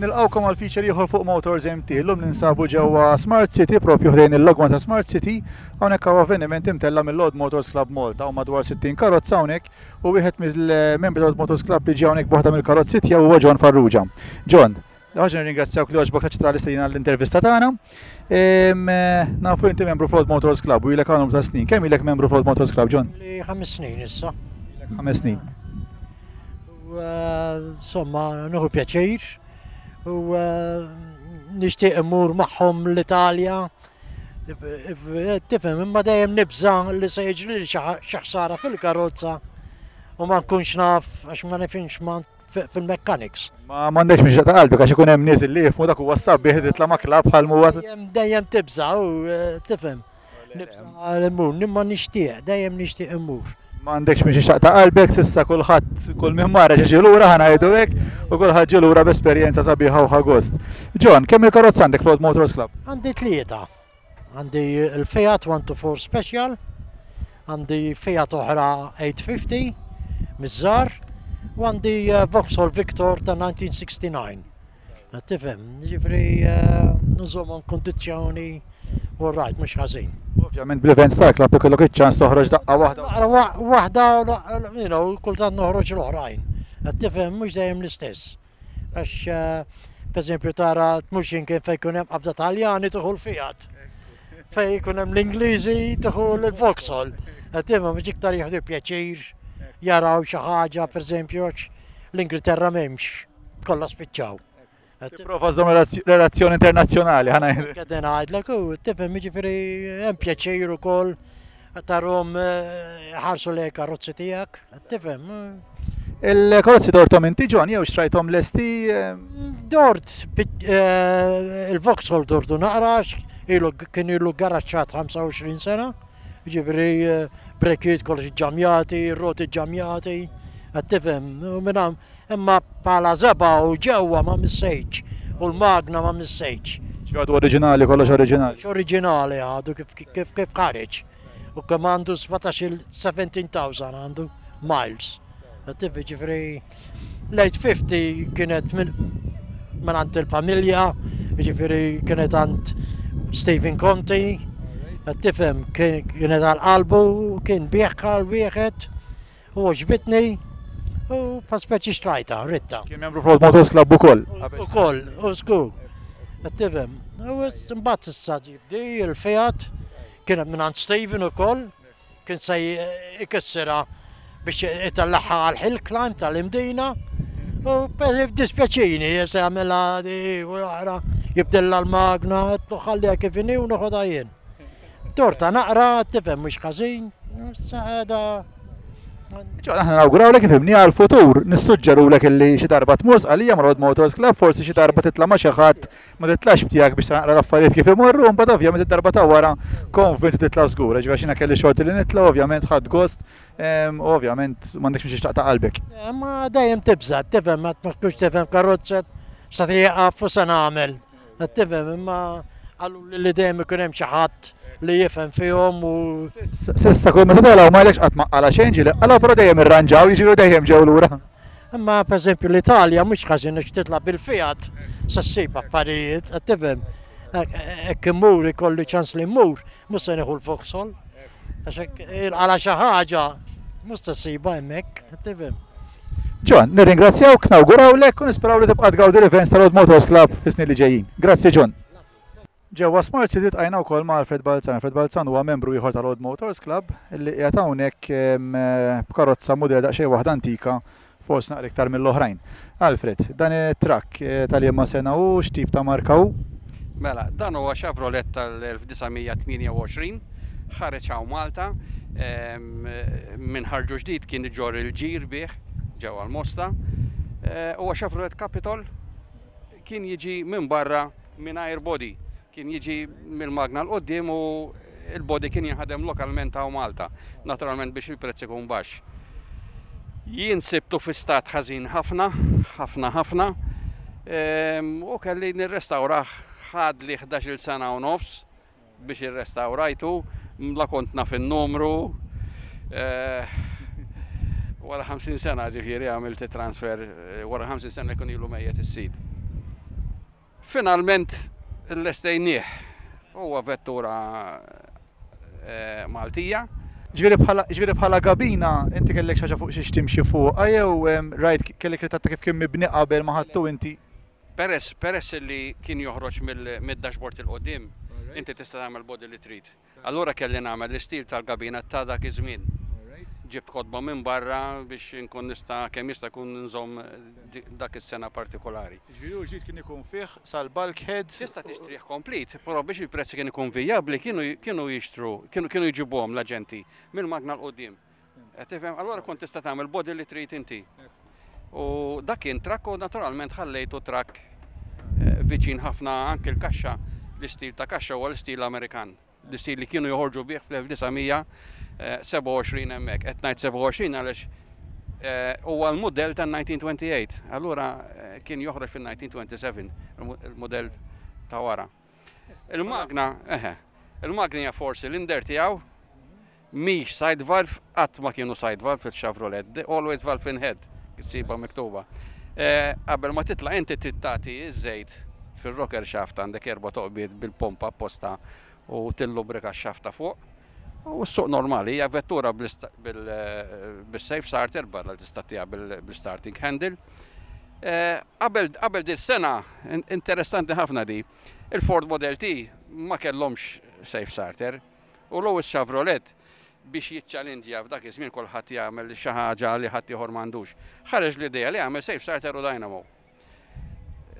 Nilqgħukom għal feature ieħor fuq Motors MT. Illum ninsabu ġewwa Smart City, propju ħdejn il-logma ta' Smart City. Hawnhekk hawn avveniment imtella' mill-Old Motors Club Malta u madwar 60 karozza hawnhekk u wieħed mill-membri tal-Old Motors Club li ġie hawnhekk b'waħda mill-karozzi tiegħu huwa John Farrugia. John, ħaġa nirringrazzjawk li għoġbok taċċetta l-istedina l-intervista tagħna. Nafu inti membru fl-Old Motors Club u ilek għandhom ta' snin. Kemm ilek membru fl-Old Motors Club, John? Ħames snin issa. Ħames snin. U insomma, nieħu pjaċir u nixtieq immur magħhom l-Italja. Tifhem, imma dejjem nibża li se jiġri xi ħsara fil-karozza u ma nkunx naf għax ma nifhimx ma fil-mechanics. Ma m'għandekx mhix ta' qalbi għax ikun hemm nies li jifhmu dak huwa sabiħ titla' ma' klabb bħal huwa. Dejjem tibża u tifhem. Nibża' immur, imma nixtieq, dejjem nixtieq immur. Ma għandekx biex ixtaq ta' qalbek, sissa kulħadd kull min marra ġie lura ħa ngħidu hekk, u kulħadd ġie lura b'esperjenza sabiħa u ħa gost. John, kemm il-karozza għandek fl-Old Motors Club? Għandi tlieta. Għandi il-Fiat 124 Special, għandi Fiat oħra 850 miż-żgħar, u għandi eh, Vauxhall Victor ta' 1969. Tifhem, ġifri eh, nżommhom kondizzjoni u rajt mhux ħażin. Ovvjament bl-events tal-klabb ikollok iċ-ċans toħroġ daqqa waħda. Waħda, you know, kultant noħroġ l-oħrajn. Tifhem, mhux dejjem l-istess. Għax, eh, per eżempju, tara tmux imkien fejn jkun hemm qabda Taljani tieħu l-Fiat. Fejn jkun hemm l-Ingliżi tieħu l-Vauxhall. Tifhem, mhux iktar jieħdu pjaċir jaraw xi ħaġa, per eżempju, l-Ingilterra m'hemmx kollha spiċċaw. Tipprova żomm relazzjoni internazzjonali ħana. Qegħdin ngħidlek u tifhem jiġifieri hemm pjaċir ukoll tarhom eh, ħarsu lejn karozzi tiegħek, tifhem. Il-karozzi dortom inti John jew xtrajthom lesti? Eh? Dort eh, il-Vauxhall dortu naqra ilu kien ilu garaċċat 25 sena, ġifieri brekiet kollox ġamjati, roti ġamjati, tifhem, u minn Imma bħala żebgħa u ġewwa ma missejtx u l-magna ma missejtx. Ġi għadu oriġinali, kollox oriġinali. Kollox oriġinali għadu kif kif kif ħareġ. U kemm għandu 17,000 għandu miles. Tifi ġifri l-850 kienet minn għand il-familja, ġifiri kienet għand Stephen Conti, tifhem kienet għal qalbu, kien bieħ għal wieħed. U għoġbitni u pa speċi xtrajta, ritta. Kien membru fl Motors Club ukoll. Ukoll, u żgur. Qed tifhem. U mbagħad issa ġibdi il-Fiat kien minn għand Steven ukoll, kien se ikissirha biex itellagħha għal hill climb tal-Imdina. U dispjaċini, se jagħmilha di u l-oħra, jibdilha l-magna, ħalliha kif inhi u noħodha jien. Torta naqra, tifhem mhux ħażin, issa Ġo, aħna nawgurawlek ifhimni għal-futur, nissuġġerulek illi xi darba tmur sqalija ma' Road Motors Club, forsi xi darba titla' ma' xi ħadd ma titlax b'tiegħek biex naqra l-affarijiet kif imorru, mbagħad ovvjament id-darba ta' wara konvint titla' żgur, ġifieri xina kelli xorti li nitla' ovvjament ħadd gost, u ovvjament m'għandekx biex taqta' qalbek. Eh, ma dejjem tibża', tifhem ma tkunx tifhem karozza sa tieqaf u se nagħmel. Qed tifhem imma qalu li dejjem ikun hemm xi ħadd li jifhem fihom u. Sissa kull meta telgħu ma għalekx qatt ma qala xejn ġieli qala però dejjem irranġaw jiġifieri dejjem ġew lura. Imma pereżempju l-Italja mhux ħażin għax titla' bil-Fiat se ssib affarijiet, qed tifhem. Hekk immur ikolli ċans li mmur, mhux se nieħu l-Vauxhall. Għax hekk ilqala xi ħaġa mhux se ssibha hemmhekk, qed tifhem. John, nirringrazzjawk, nawgurawlek u nisperaw li tibqa' tgawdi l-events tal-Old Motors Club fis-snin li ġejjin. Grazzi John. Ġewwa Smart City tqajna wkoll ma' Alfred Balzan. Alfred Balzan huwa membru ieħor tal-Old Motors Club li qiegħed hawnhekk b'karozza mudell daqsxejn waħda antika forsi naqra iktar mill-oħrajn. Alfred, dan it-trakk eh, tal-liema sena hu, x'tip ta' marka hu? Mela, dan huwa Chevrolet tal-1928, ħareġ hawn Malta, minn ħarġu ġdid kien iġorr il-ġir bih ġewwa l-Mosta. Eh, huwa Chevrolet Capitol kien jiġi minn barra mingħajr body. Kien jiġi mill-magna 'l quddiem u l-body kien jinħadem lokalment hawn Malta, naturalment biex il-prezz ikun baxx. Jien sibtu fi stat ħażin ħafna, ħafna ħafna, ehm, u kelli nirrestawrah ħadli 11-il sena u nofs biex irrestawrajtu, la kont naf in-numru. Eh, wara 50 sena ġifieri għamilt transfer, eh, wara 50 sena jkun ilu mejjet is-sid. Finalment lestejnieh. Huwa vettura Maltija. Ġifieri bħala ġifieri bħala gabina inti kellek xi ħaġa fuq xiex timxi fuqha jew rajt kellek ritratt ta' kif kien mibni qabel ma ħadtu inti? Peress peress li kien joħroġ mid-dashboard 'il quddiem, inti tista' tagħmel body li trid. Allura kelli nagħmel l-istil tal-gabina ta' dak iż-żmien. Ġibt kotba minn barra biex inkun nista' kemm jista' jkun nżomm dak is-sena partikolari. Jiġifieri hu ġdid kien ikun fih sal-bulkhead. Tista' tixtrih komplet, però biex il-prezz kien ikun vijabbli kienu kienu jixtru, kienu kienu jġibuhom l-aġenti mill-magna 'l quddiem. Qed tifhem? Allura kont tista' tagħmel body li trid inti. U dak kien trakk u naturalment ħallejtu trakk eh, viċin ħafna anke l-kaxxa, l-istil ta' kaxxa huwa l-istil Amerikan. L-istil li kienu joħorġu bih fl-1927 hemmhekk. Qed ngħid 27 għaliex eh, huwa l-mudell tan-1928. Allura eh, kien joħroġ fil-1927 il-mudell ta' wara. Il-magna, eħe, il-magna hija four cylinder tiegħu, mhix side valve, qatt ma kienu side valve fil-Chevrolet, always valve in head, ssiba miktuba. Eh, qabel ma titla' inti trid tagħti iż-żejt fir-rocker shaft għandek erba' toqbiet bil-pompa apposta u tillubrika x-shaft ta' fuq. U s-suq normali hija vettura bil-safe starter barra li tista' tiha bil-starting handle. Eh, qabel qabel din sena interessanti ħafna di, il-Ford Model T ma kellhomx safe starter u Louis Chevrolet biex jiċċalinġja f'dak iż-żmien kulħadd jagħmel xi ħaġa li ħadd ieħor m'għandux. Ħareġ l-idea li jagħmel safe starter u dynamo.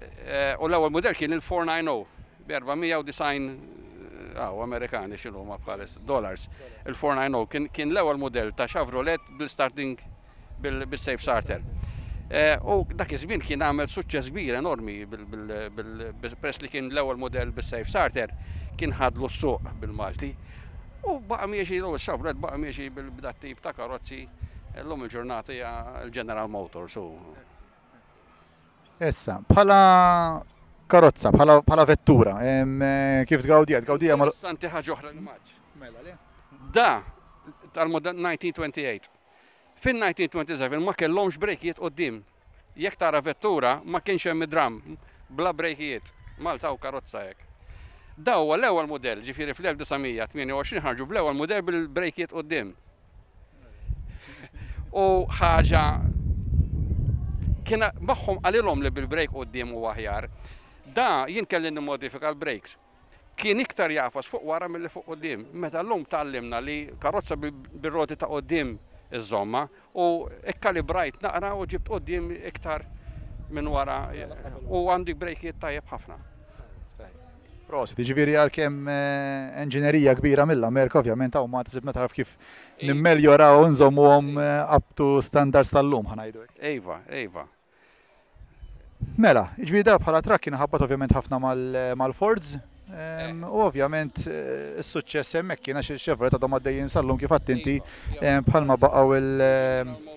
Eh, u l-ewwel mudell kien il-490 bi 490 għaw Amerikani x'inhu ma bħalis dollars. Il-490 kien, kien l-ewwel mudell ta' Chevrolet bil-starting bil-safe starter. Eh, u dak iż-żmien kien għamel suċċess kbir enormi bil-press li kien l-ewwel mudell bis-safe starter kien ħadlu s-suq bil-Malti. U baqa' miexi, u Chevrolet baqa' miexi bil-dat tip ta' karozzi l-lum il-ġurnata hija l-General Motors. Issa, bħala karozza, bħala vettura, eh, kif tgawdija? Tgawdija mal. Santi ħaġa oħra li maġ. Mela le. Da, tal-modell 1928. Fin-1927 ma kellhomx brejkijiet quddiem. Jekk tara vettura ma kienx hemm id-dram bla brejkijiet. Malta u karozza hekk. Da huwa l-ewwel mudell, ġifieri fl-1928 ħarġu bl-ewwel mudell bil-brejkijiet quddiem. U ħaġa kien magħhom qalilhom li bil-brejk quddiem huwa aħjar. Da jien kelli nimmodifika l-brakes. Kien iktar jagħfas fuq wara milli fuq quddiem. Meta llum tgħallimna li karozza bir-roti ta' quddiem iżżommha u ikkalibrajt naqra u ġibt quddiem iktar minn wara u għandi brejkijiet tajjeb ħafna. Prosit, ġifieri għalkemm eh, enġinerija kbira mill-Amerika, ovvjament hawn Malta sibna taraf kif nimmeljoraw u nżommuhom eh, up to standards tal-lum ħanajdu. Iva, iva. Mela, ġifieri da bħala trakk kien ħabbat ovvjament ħafna mal-Fords. Ehm, u ovvjament eh, is-suċċess hemmhekk kien għax il-Chevrolet għadhom għaddejjin sal-lum kif inti ehm, bħalma baqgħu il-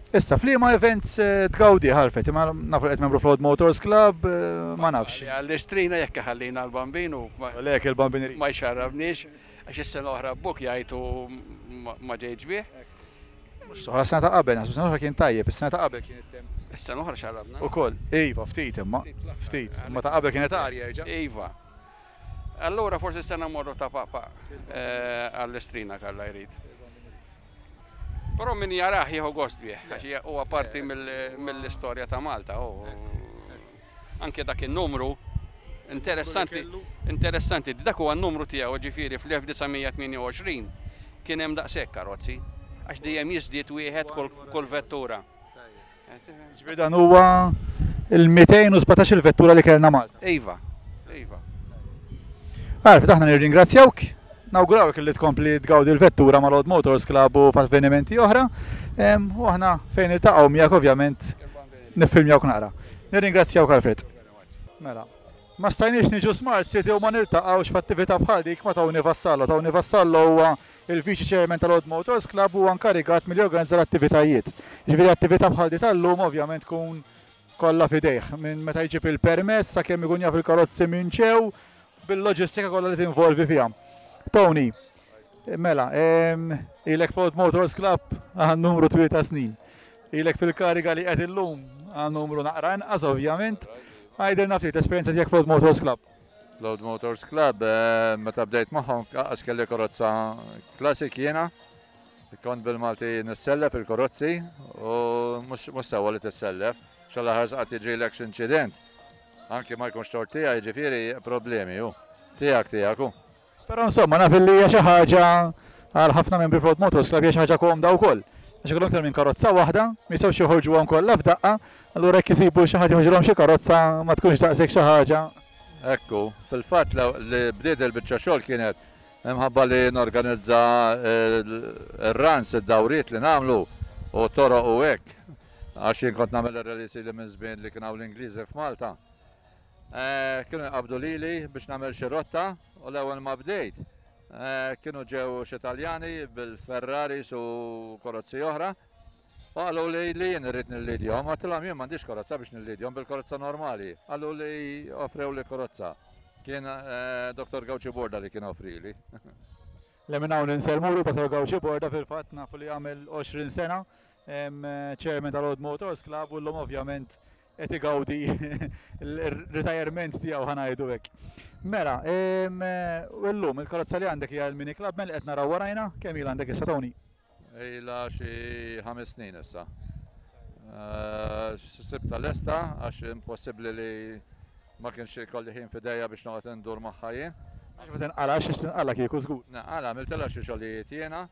Issa, f'liema events eh, tgawdi ħalfet, ma nafu qed membru Flood Motors Club, eh, ma nafx. Għall-istrina jekk ħallina l-bambinu. Lek il-bambin Ma jxarrabniex, għax is-sena oħra buk jgħidu ma ġejtx bih. Mhux soħra sena ta' qabel, naħseb sena oħra kien tajjeb, is-sena ta' qabel kien it-temp. Is-sena oħra xarrabna. Ukoll, iva, ftit imma, ftit, imma ta' qabel kienet arja jerġa'. Iva. Allura forsi s-sena morru ta' papa eh, għall-istrina kalla jrid. Però min jarah jieħu gost bih, għax huwa parti mill-istorja ta' Malta. Anke dak in-numru interessanti, interessanti, dak huwa n-numru tiegħu ġifieri fl-1928 kien hemm daqshekk karozzi, għax dejjem jiżdied wieħed kull vettura. Ġifieri dan huwa il-217 il-vettura li kellna Malta. Iva, iva. Għarf, aħna nirringrazzjawk, nawgurawk li tkompli tgawdi l-vettura mal-Old Motors Club u f'avvenimenti oħra. U aħna fejn iltaqgħu miegħek ovvjament niffilmjawk naqra. Nirringrazzjawk Alfred. Mela. Ma stajniex niġu Smart City u ma niltaqgħux f'attività bħal dik ma' Tony Vassallo. Tony Vassallo huwa Il-Viċi Chairman tal-Old Motors Club huwa inkarigat milli jorganizza l-attivitajiet. Jiġifieri attività bħal di tal-lum ovvjament tkun kollha f'idejh, minn meta jġib il-permess sakemm ikun jaf il-karozzi minn ġew, bil-loġistika kollha li tinvolvi fiha. Tony, mela, ilek f'Old Motors Club għal numru twil ta' snin. Ilek fil-kariga li qed illum għal numru naqra inqas ovvjament. Għidilna ftit l-esperjenza tiegħek fl-Old Motors Club. L-Old Motors Club, meta bdejt magħhom qas kelli karozza classic jiena. Kont bil-Malti nissellef il-karozzi u mhux sewwa li tissellef. Xalla ħares qatt jiġrilek x'inċident. Anki ma jkunx tort tiegħi jiġifieri problemi hu. Tiegħek tiegħek hu. Però insomma naf illi hija xi ħaġa għal ħafna membri fl-Old Motors Club hija xi ħaġa komda wkoll. Għax ikollhom iktar minn karozza waħda, ma jistgħux joħorġuhom kollha f'daqqa, allura jekk isibu xi ħadd joħorġilhom xi karozza ma tkunx daqshekk xi ħaġa. Hekk hu. Fil-fatt li bdiet il-biċċa xogħol kienet imħabba li norganizza r-runs, id-dawriet li nagħmlu u t-toroq u hekk. Għax jien kont nagħmel ir-rallies ili minn żmien li kien hawn l-Ingliżi f'Malta. Kienu jqabbdu lili biex nagħmel xi rotta u l-ewwel ma bdejt kienu ġew xi Taljani bil-Ferraris u karozzi oħra u qalu li li jien irrid nillidjhom. Għedtilhom jien m'għandix karozza biex nillidjhom bil-karozza normali. Qalu li offrewli karozza. Kien Dottor Gauci Borda li kien offrili. Le minn hawn insellmulu Dottor Gauci Borda fil-fatt nafu li għamel 20 sena chairman tal-Old Motors Club u llum ovvjament qed igawdi l-retirement tiegħu ħa ngħidu hekk. Mela, u llum il-karozza li għandek hija l-Mini Clubman li qed naraw warajna, kemm ilha għandek issa Tony? Ilha xi ħames snin issa. Sibtha lesta għax impossibbli li ma kienx ikolli ħin f'idejja biex noqgħod indur magħha jien. Għax ma tinqalax, għax tinqala kieku żgur. Nqala, għamiltilha xi xogħlijiet jiena.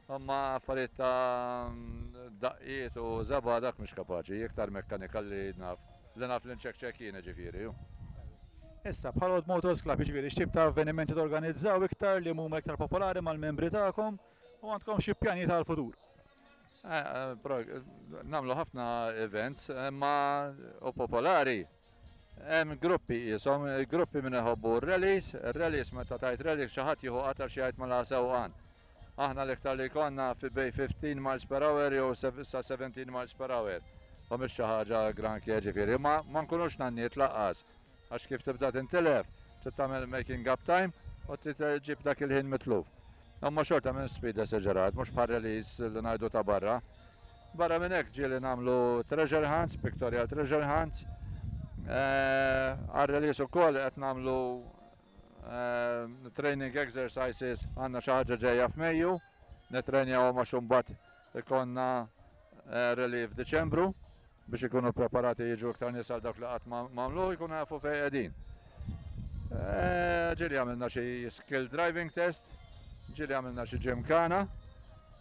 Imma affarijiet ta' daqqiet u żebgħa dak mhux kapaċi, iktar mekkanika li naf, li naf li nċekċek jien jiġifieri. Issa, bħala Old Motors Club, jiġifieri x'tip ta' avvenimenti torganizzaw iktar li huma iktar popolari mal-membri tagħkom u għandkom xi pjanijiet għall-futur? Nagħmlu ħafna events, imma u popolari. Hemm gruppi qishom, gruppi min iħobbu r-rallies, ir-rallies meta tgħid rally xi ħadd jieħu qatar xi jgħid mela sewqan. Aħna l-iktar li jkollna fi bejn 15 miles per hour jew sa 17 miles per hour. U mhix xi ħaġa granché ġifieri, ma ma nkunux nanniet lanqas. Għax kif tibda tintilef, trid tagħmel making up time u trid ġġib dak il-ħin mitluf. Imma xorta mhux speed esaġerat, mhux bħal rallies li ngħidu ta' barra. Barra minn hekk ġieli nagħmlu treasure hunts, pictorial treasure hunts. Għar-rallies ukoll qed nagħmlu training exercises, għandna xi ħaġa ġejja f'Mejju, nitrenjawhom għax imbagħad ikollna rally f'Diċembru biex ikunu preparati jiġu iktar nies għal dawk li qatt m'għamluh jkunu jafu fejn qegħdin. Ġieli għamilna xi skill driving test, ġieli għamilna xi gymkhana.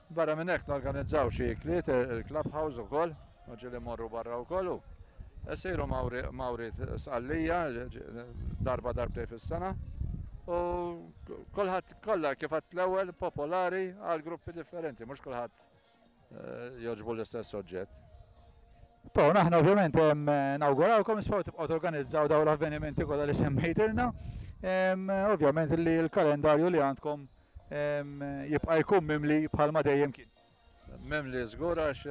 Barra minn hekk norganizzaw xi ikliet il-clubhouse ukoll, u ġieli mmorru barra wkoll u Isiru mawriet Sqallija darba darbtejn fis-sena u kulħadd kollha kif għedt l-ewwel popolari għal gruppi differenti, mhux kulħadd jogħġbu l-istess oġġett. Ton, aħna ovvjament nawgurawkom, nisperaw tibqgħu torganizzaw dawn l-avvenimenti kollha li semmejtilna. Ovvjament li l-kalendarju li għandkom jibqa' jkun mimli bħalma dejjem kien. Mimli żgur għax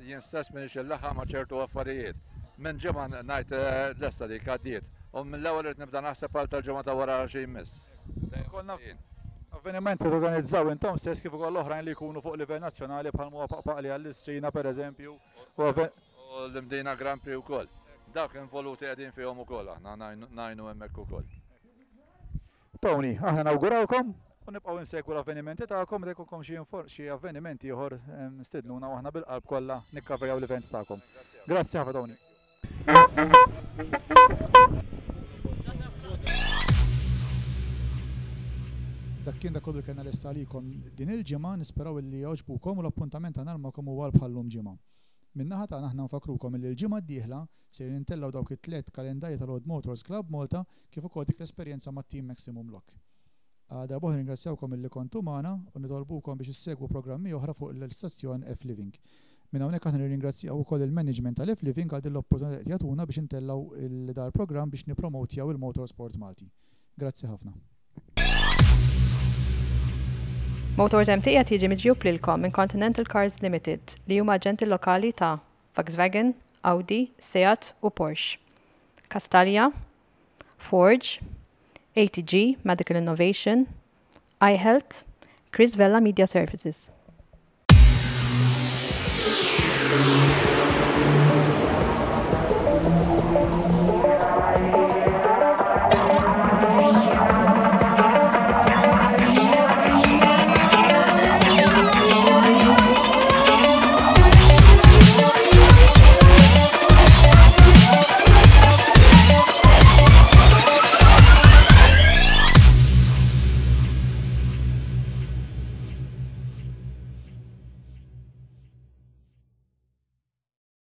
jien stess m'iniex inlaħħaq ma' ċertu affarijiet. Minn ġimgħa ngħid lesta dik għaddiet u mill-ewwel irid nibda naħseb għal tal-ġimgħa ta' wara xi jmiss. Ikollna avvenimenti li torganizzaw intom stess kif ukoll oħrajn li jkunu fuq livell nazzjonali bħal huwa Paqpaqli għall-Istrina pereżempju. U l-Imdina Grand Prix ukoll. Dawk involuti qegħdin fihom ukoll aħna ngħinu hemmhekk ukoll. Tony, aħna nawgurawkom u nibqgħu insegwu l-avvenimenti tagħkom meta jkollkom xi xi avveniment ieħor stidnuna u aħna bil-qalb kollha nikkaverjaw l-events tagħkom. Grazzi ħafna Tony. Dak kien dak kollu li kellna lesta għalikom din il-ġimgħa, nisperaw illi għoġbukom u l-appuntament tagħna magħkom huwa għal bħal-lum ġimgħa. Min-naħa tagħna aħna nfakkrukom illi l-ġimgħa d-dieħla sejrin intellgħu dawk it-tlett kalendarji tal-Old Motors Club Malta kif ukoll dik l-esperjenza mat-Team Maximum Lock. Għal darb'oħra nirringrazzjawkom illi kontu magħna u nitolbukom biex issegwu programmi oħra fuq l-istazzjon F-Living. Minn hawnhekk aħna nirringrazzjaw ukoll il-management tal-F-Living għal din l-opportunità li qed jagħtuna biex intellgħu dal-programm biex nippromotjaw il-motorsport Malti. Grazzi ħafna. Motors MT qed jiġi miġjub lilkom minn Continental Cars Limited li huma aġenti lokali ta' Volkswagen, Audi, Seat u Porsche. Kastalja, Forge, ATG, Medical Innovation, iHealth, Chris Vella Media Services.